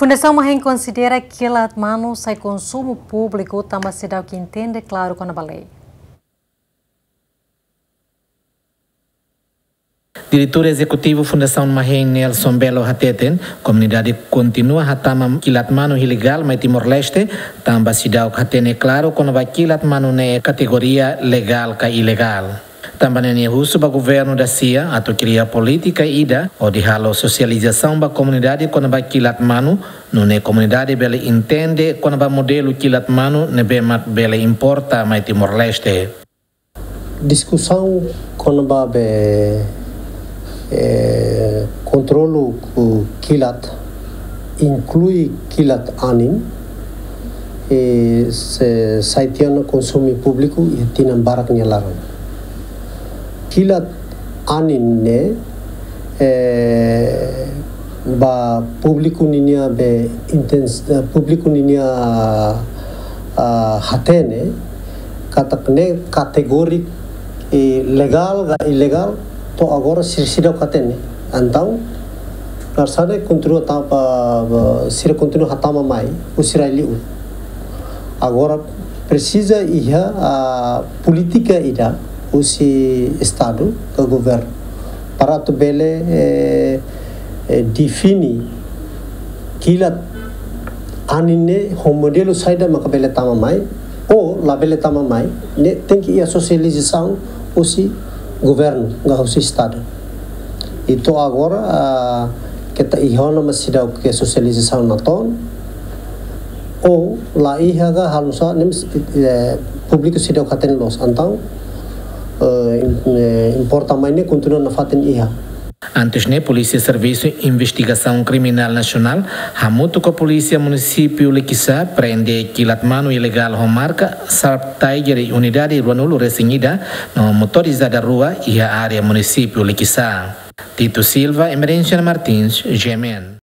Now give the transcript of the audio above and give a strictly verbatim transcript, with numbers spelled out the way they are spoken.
Fundasaun Mahen konsidera kilat manu sai konsumu públiku tanba seidauk entende klaru kona-ba lei. Diretór Ezekutivu Fundasaun Mahen, Nelson Belo, hateten, komunidade kontinua hatama kilat manu ilegál mai Timor-Leste, tanba seidauk hatene klaru kona-ba kilat manu ne'e kategoria legál ka ilegál. Tanba ne'e nia husu ba governu da-sia atu kria polítika ida hodi halo sosializasaun ba komunidade kona-ba kilat manu, nune'e komunidade bele entende kona-ba modelu kilat manu ne'ebé mak bele importa mai Timor-Leste. Diskusaun kona-ba be, eh, kontrolu kilat, inklui kilat anin, eh, se sai tiha ona konsumu públiku iha tinan barak nia laran. Kilat anin ne'e, eh, ba públiku ninia be intens-, eh, públiku ninia, ah, hatene, katak ne'e kategoria, eh, legál ka ilegál, to'o agora sira seidauk hatene. Entaun, naran sá ne'e kontinua tama, ah, sira kontinua hatama mai, husi rai li'ur. Agora presiza iha, ah, polítika ida husi Estadu ka governu para atu bele, eh, eh, define kilat anin ne'e ho modelu saida maka bele tama mai ou labele tama mai, ne'e tenke iha sosializasaun husi governu ka husi Estadu. I to'o agora, ah, keta iha ona mak seidauk iha sosializasaun natoon, ou la iha ka halo sá ne'e, eh, públiku seidauk hatene loos. Entaun, eh, im-, eh, importa mai ne'e kontinua nafatin iha. Antes ne'e, Polísia Servisu Investigasaun Kriminál Nasionál, hamutuk ho Polísia Munisípiu Likisá, prende kilat manu ilegál ho marka Sharp Tiger iha unidade ruanulu resin ida no motorizada rua iha área Munisípiu Likisá. Tito Silva, Emerenciana Martins, G M N.